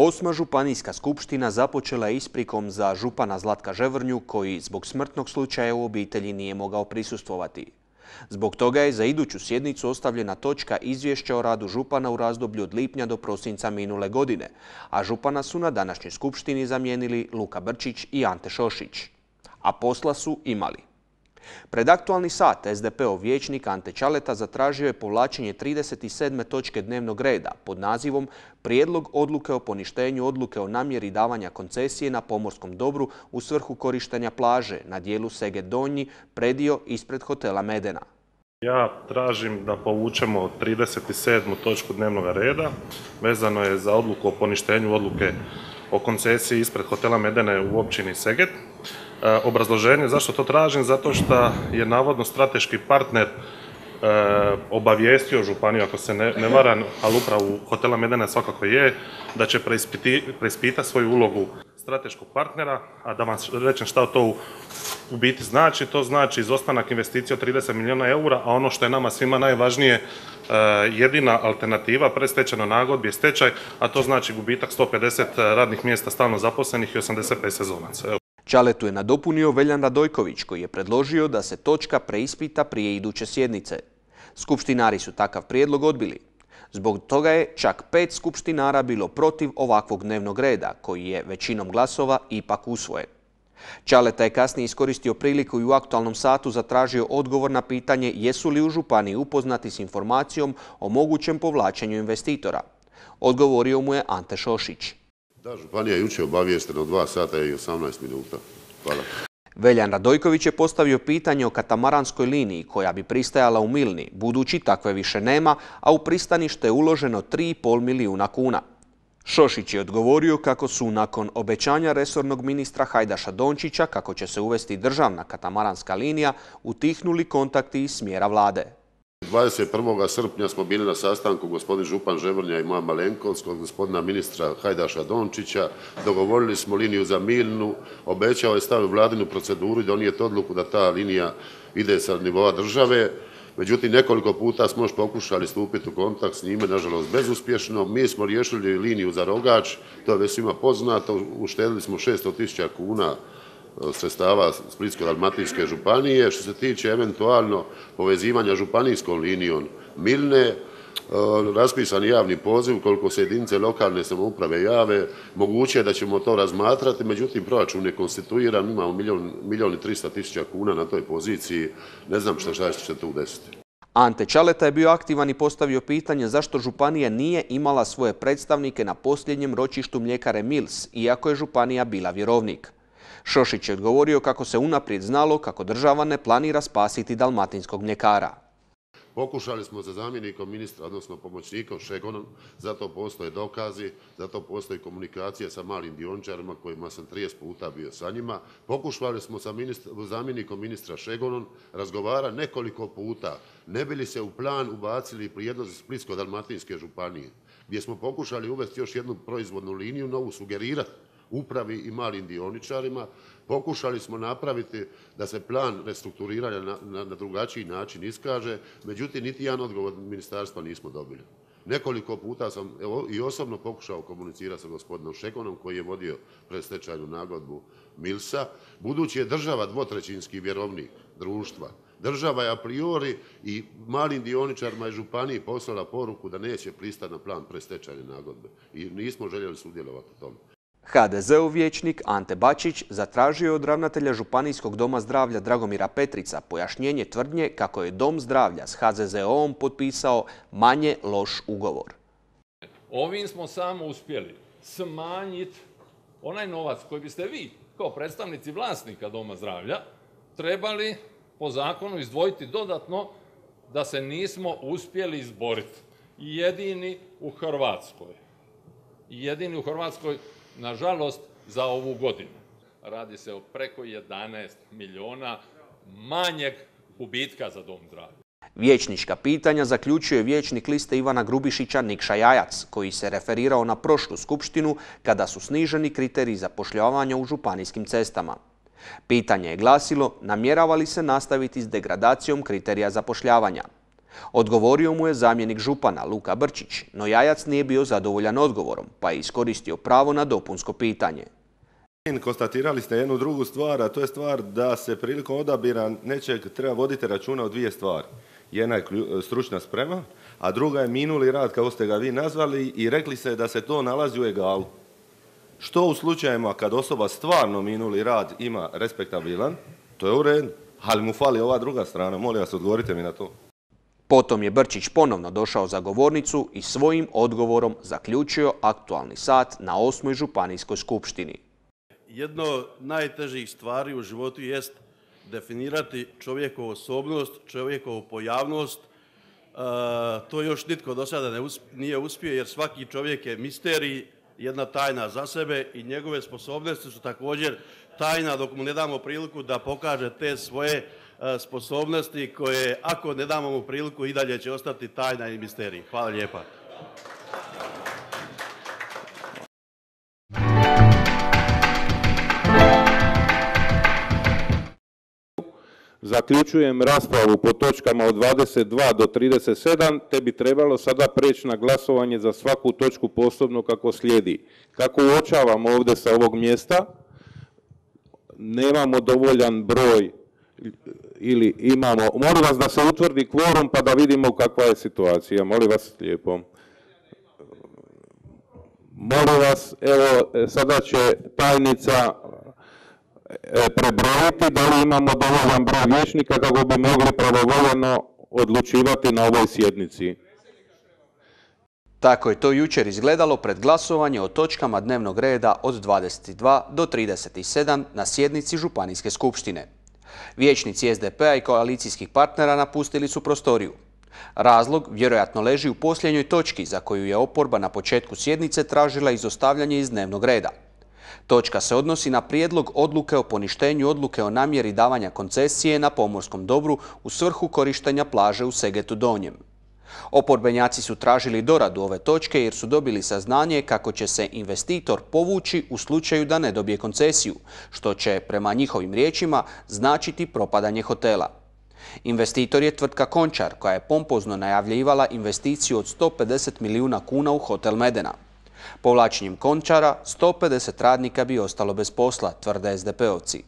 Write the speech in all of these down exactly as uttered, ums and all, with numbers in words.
Osma županijska skupština započela je isprikom za župana Zlatka Ževrnju koji zbog smrtnog slučaja u obitelji nije mogao prisustvovati. Zbog toga je za iduću sjednicu ostavljena točka izvješća o radu župana u razdoblju od lipnja do prosinca minule godine, a župana su na današnjoj skupštini zamijenili Luka Brčić i Ante Šošić. A posla su imali. Pred aktualni sat es de pe-ov vijećnik Ante Čaleta zatražio je povlačenje trideset sedme točke dnevnog reda pod nazivom Prijedlog odluke o poništenju odluke o namjeri davanja koncesije na pomorskom dobru u svrhu korištenja plaže na dijelu Seget Donji, predio ispred hotela Medena. Ja tražim da povučemo trideset sedmu točku dnevnog reda. Vezano je za odluku o poništenju odluke o koncesiji ispred hotela Medene u općini Seget. E, obrazloženje zašto to tražim? Zato što je navodno strateški partner e, obavijestio županiju, ako se ne, ne varam, ali upravo hotela Medene svakako je, da će preispitati svoju ulogu strateškog partnera, a da vam rečem šta to u, u biti znači, to znači izostanak investicije od trideset milijuna eura, a ono što je nama svima najvažnije, jedina alternativa predstečajnoj nagodbi je stečaj, a to znači gubitak sto pedeset radnih mjesta stalno zaposlenih i osamdeset pet sezonaca. Evo. Čaletu je nadopunio Veljan Radojković koji je predložio da se točka preispita prije iduće sjednice. Skupštinari su takav prijedlog odbili. Zbog toga je čak pet skupštinara bilo protiv ovakvog dnevnog reda, koji je većinom glasova ipak usvojen. Čaleta je kasnije iskoristio priliku i u aktualnom satu zatražio odgovor na pitanje jesu li u županiji upoznati s informacijom o mogućem povlačenju investitora. Odgovorio mu je Ante Šošić. Da, županija je jučer obaviještena od dva sata i osamnaest minuta. Hvala. Veljan Radojković je postavio pitanje o katamaranskoj liniji koja bi pristajala u Milni, budući takve više nema, a u pristanište je uloženo tri i pol milijuna kuna. Šošić je odgovorio kako su nakon obećanja resornog ministra Hajdaša Dončića kako će se uvesti državna katamaranska linija utihnuli kontakti iz smjera vlade. dvadeset prvog srpnja smo bili na sastanku gospodin župan Ževrnja i moja malenkost kod gospodina ministra Hajdaša Dončića. Dogovorili smo liniju za Milnu, obećao je staviti vladinu proceduru i donijeti odluku da ta linija ide sa nivoa države. Međutim, nekoliko puta smo još pokušali stupiti u kontakt s njime, nažalost bezuspješno. Mi smo riješili liniju za Rogač, to je već svima poznato, uštedili smo šesto tisuća kuna sredstava Splitsko-dalmatinske županije. Što se tiče eventualno povezivanja županijskom linijom Milne, raspisan javni poziv, koliko se jedinice lokalne samouprave jave, moguće je da ćemo to razmatrati, međutim proračun je konstituiran, imamo milijon i trista tisuća kuna na toj poziciji, ne znam šta, šta će se tu desiti. Ante Čaleta je bio aktivan i postavio pitanje zašto županija nije imala svoje predstavnike na posljednjem ročištu mljekare Mils, iako je županija bila vjerovnik. Šošić je odgovorio kako se unaprijed znalo kako država ne planira spasiti dalmatinskog mljekara. Pokušali smo za zamjenikom ministra, odnosno pomoćnikom Šegonom, zato postoje dokazi, zato postoji komunikacija sa malim dioničarima kojima sam trideset puta bio sa njima. Pokušali smo sa ministra, zamjenikom ministra Šegonom razgovara nekoliko puta, ne bi li se u plan ubacili prijedlozi Splitsko-dalmatinske županije, gdje smo pokušali uvesti još jednu proizvodnu liniju, novu sugerirati upravi i malim dioničarima. Pokušali smo napraviti da se plan restrukturiranja na, na, na drugačiji način iskaže, međutim, niti jedan odgovor ministarstva nismo dobili. Nekoliko puta sam evo, i osobno pokušao komunicirati sa gospodinom Šegonom koji je vodio predstečajnu nagodbu Milsa. Budući je država dvotrećinski vjerovnik društva, država je a priori i malim dioničarima i županiji poslala poruku da neće pristati na plan predstečajne nagodbe i nismo željeli sudjelovati u tome. ha de ze-ov vijećnik Ante Bačić zatražio je od ravnatelja Županijskog doma zdravlja Dragomira Petrica pojašnjenje tvrdnje kako je Dom zdravlja s ha ze ze-om potpisao manje loš ugovor. Ovim smo samo uspjeli smanjiti onaj novac koji biste vi, kao predstavnici vlasnika Doma zdravlja, trebali po zakonu izdvojiti dodatno da se nismo uspjeli izboriti. Jedini u Hrvatskoj. Jedini u Hrvatskoj, nažalost, za ovu godinu. Radi se o preko jedanaest milijuna manjeg gubitka za Dom zdravlja. Vijećnička pitanja zaključuje vijećnik liste Ivana Grubišića Nikša Jajac, koji se referirao na prošlu skupštinu kada su sniženi kriteriji zapošljavanja u županijskim cestama. Pitanje je glasilo namjerava li se nastaviti s degradacijom kriterija zapošljavanja. Odgovorio mu je zamjenik župana Luka Brčić, no Jajac nije bio zadovoljan odgovorom, pa je iskoristio pravo na dopunsko pitanje. Konstatirali ste jednu drugu stvar, a to je stvar da se prilikom odabira nečeg treba voditi računa o dvije stvari. Jedna je stručna sprema, a druga je minuli rad, kako ste ga vi nazvali, i rekli ste da se to nalazi u egalu. Što u slučajima kad osoba stvarno minuli rad ima respektabilan, to je u redu, ali mu fali ova druga strana. Molim vas, odgovorite mi na to. Potom je Brčić ponovno došao za govornicu i svojim odgovorom zaključio aktualni sat na osmoj županijskoj skupštini. Jedno od najtežih stvari u životu jest definirati čovjekovu osobnost, čovjekovu pojavnost. E, to još nitko do sada ne usp- nije uspio, jer svaki čovjek je misterij, jedna tajna za sebe, i njegove sposobnosti su također tajna dok mu ne damo priliku da pokaže te svoje e, sposobnosti koje, ako ne damo mu priliku, i dalje će ostati tajna i misterij. Hvala lijepa. Zaključujem raspravu po točkama od dvadeset dva do trideset sedam, te bi trebalo sada preći na glasovanje za svaku točku posebno kako slijedi. Kako uočavam ovdje sa ovog mjesta, nemamo dovoljan broj ili imamo, molim vas da se utvrdi kvorum pa da vidimo kakva je situacija, molim vas lijepo. Molim vas, evo sada će tajnica prebrojiti da li imamo dovoljan broj vijećnika kako bi mogli pravovaljano odlučivati na ovoj sjednici. Tako je to jučer izgledalo pred glasovanje o točkama dnevnog reda od dvadeset dva do trideset sedam na sjednici Županijske skupštine. Vijećnici es de pe a i koalicijskih partnera napustili su prostoriju. Razlog vjerojatno leži u posljednjoj točki za koju je oporba na početku sjednice tražila izostavljanje iz dnevnog reda. Točka se odnosi na prijedlog odluke o poništenju odluke o namjeri davanja koncesije na pomorskom dobru u svrhu korištenja plaže u Segetu Donjem. Oporbenjaci su tražili doradu ove točke jer su dobili saznanje kako će se investitor povući u slučaju da ne dobije koncesiju, što će, prema njihovim riječima, značiti propadanje hotela. Investitor je tvrtka Končar, koja je pompozno najavljivala investiciju od sto pedeset milijuna kuna u hotel Medena. Povlačenjem Končara sto pedeset radnika bi ostalo bez posla, tvrde es de pe ovci.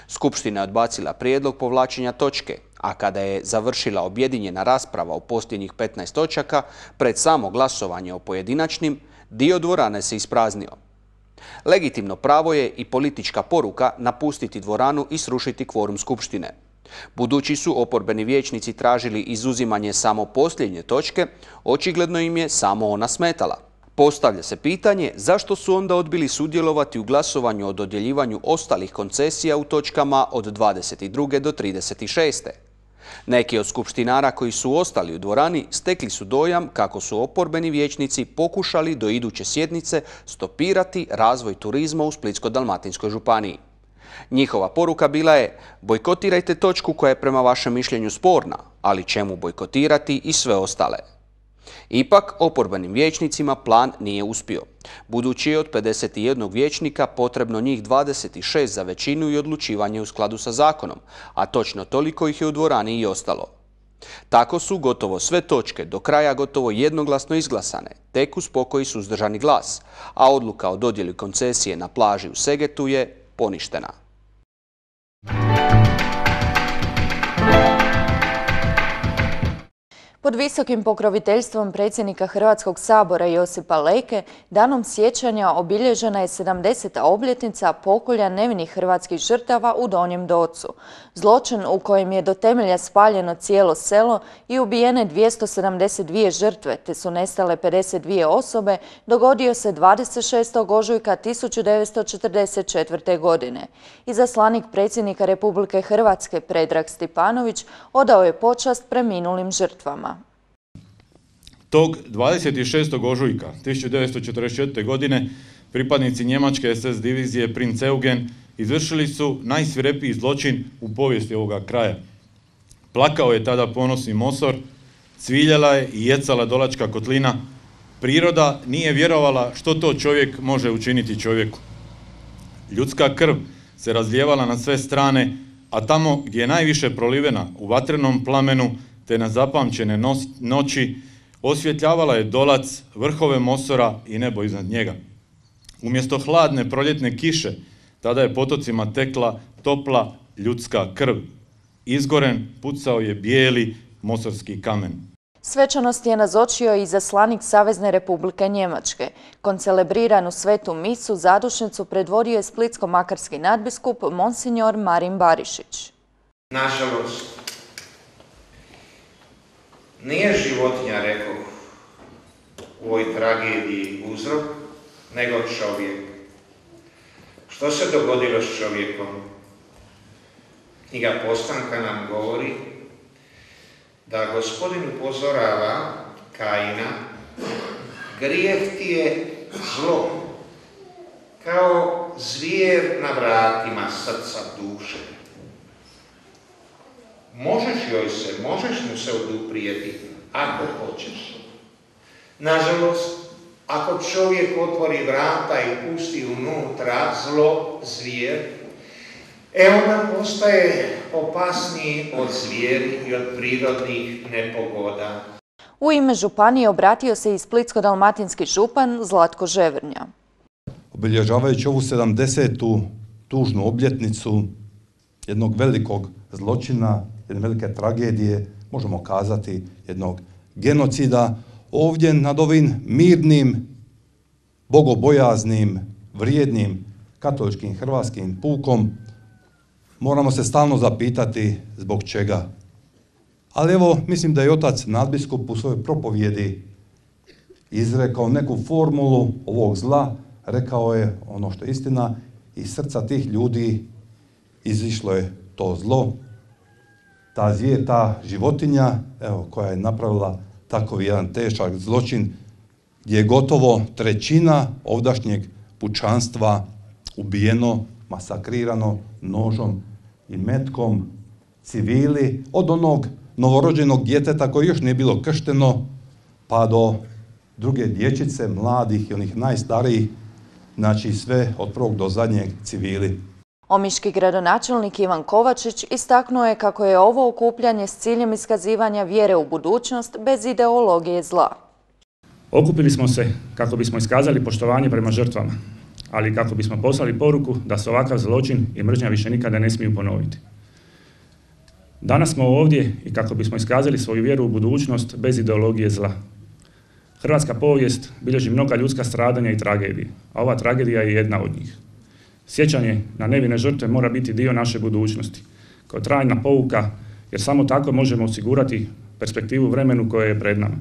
Skupština je odbacila prijedlog povlačenja točke, a kada je završila objedinjena rasprava o posljednjih petnaest točaka, pred samo glasovanje o pojedinačnim, dio dvorane se ispraznio. Legitimno pravo je i politička poruka napustiti dvoranu i srušiti kvorum skupštine. Budući su oporbeni vijećnici tražili izuzimanje samo posljednje točke, očigledno im je samo ona smetala. Postavlja se pitanje zašto su onda odbili sudjelovati u glasovanju o dodjeljivanju ostalih koncesija u točkama od dvadeset druge do trideset šeste. Neki od skupštinara koji su ostali u dvorani stekli su dojam kako su oporbeni vijećnici pokušali do iduće sjednice stopirati razvoj turizma u Splitsko-dalmatinskoj županiji. Njihova poruka bila je: bojkotirajte točku koja je prema vašem mišljenju sporna, ali čemu bojkotirati i sve ostale. Ipak, oporbenim vijećnicima plan nije uspio. Budući je od pedeset jedan vijećnika potrebno njih dvadeset šest za većinu i odlučivanje u skladu sa zakonom, a točno toliko ih je u dvorani i ostalo. Tako su gotovo sve točke do kraja gotovo jednoglasno izglasane, tek uz pokoji suzdržani glas, a odluka o dodjeli koncesije na plaži u Segetu je poništena. Pod visokim pokroviteljstvom predsjednika Hrvatskog sabora Josipa Leke, danom sjećanja obilježena je sedamdeseta obljetnica pokolja nevinih hrvatskih žrtava u Donjem Docu. Zločin u kojem je do temelja spaljeno cijelo selo i ubijene dvjesto sedamdeset dvije žrtve, te su nestale pedeset dvije osobe, dogodio se dvadeset šestog ožujka tisuću devetsto četrdeset četvrte. godine. Izaslanik predsjednika Republike Hrvatske Predrag Stipanović odao je počast preminulim žrtvama. Tog dvadeset šestog ožujka tisuću devetsto četrdeset četvrte. godine pripadnici njemačke es es divizije Princ Eugen izvršili su najsvirepiji zločin u povijesti ovoga kraja. Plakao je tada ponosni Mosor, cviljala je i jecala Dolačka kotlina. Priroda nije vjerovala što to čovjek može učiniti čovjeku. Ljudska krv se razlijevala na sve strane, a tamo gdje je najviše prolivena u vatrenom plamenu, te na zapamćene noći osvjetljavala je Dolac, vrhove Mosora i nebo iznad njega. Umjesto hladne proljetne kiše, tada je potocima tekla topla ljudska krv. Izgoren pucao je bijeli mosorski kamen. Svečanost je nazočio i izaslanik Savezne Republike Njemačke. Koncelebriranu svetu misu zadušnicu predvodio je splitsko-makarski nadbiskup Monsignor Marin Barišić. Nažalost, nije životinja, rekao, u ovoj tragediji uzrok, nego čovjek. Što se dogodilo s čovjekom? Knjiga Postanka nam govori da Gospodin upozorava Kaina, grijeh ti je zlo, kao zvijer na vratima srca duše. Možeš joj se, možeš mu se oduprijeti, ako hoćeš. Nažalost, ako čovjek otvori vrata i pusti unutra zlo, zvijer, e onda postaje opasniji od zvijeri i od prirodnih nepogoda. U ime županije obratio se i splitsko-dalmatinski župan Zlatko Ževrnja. Obilježavajući ovu sedamdesetu tužnu obljetnicu jednog velikog zločina, jedne velike tragedije, možemo kazati jednog genocida, ovdje nad ovim mirnim, bogobojaznim, vrijednim katoličkim hrvatskim pukom moramo se stalno zapitati zbog čega. Ali evo, mislim da je otac nadbiskup u svojoj propovjedi izrekao neku formulu ovog zla, rekao je ono što je istina, iz srca tih ljudi izišlo je to zlo, ta zvijer, ta životinja, evo, koja je napravila takav jedan težak zločin, gdje je gotovo trećina ovdašnjeg pučanstva ubijeno, masakrirano nožom i metkom, civili, od onog novorođenog djeteta koji još nije bilo kršteno, pa do druge dječice, mladih i onih najstarijih, znači sve od prvog do zadnjeg civili. Omiški gradonačelnik Ivan Kovačić istaknuo je kako je ovo okupljanje s ciljem iskazivanja vjere u budućnost bez ideologije zla. Okupili smo se kako bismo iskazali poštovanje prema žrtvama, ali kako bismo poslali poruku da se ovakav zločin i mržnja više nikada ne smiju ponoviti. Danas smo ovdje i kako bismo iskazali svoju vjeru u budućnost bez ideologije zla. Hrvatska povijest bilježi mnoga ljudska stradanja i tragedije, a ova tragedija je jedna od njih. Sjećanje na nevine žrtve mora biti dio naše budućnosti, kao trajna pouka, jer samo tako možemo osigurati perspektivu vremenu koje je pred nama.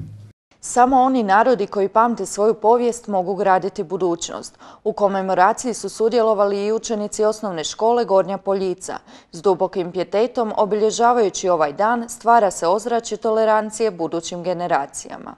Samo oni narodi koji pamte svoju povijest mogu graditi budućnost. U komemoraciji su sudjelovali i učenici osnovne škole Gornja Poljica. S dubokim pijetetom, obilježavajući ovaj dan, stvara se ozračje tolerancije budućim generacijama.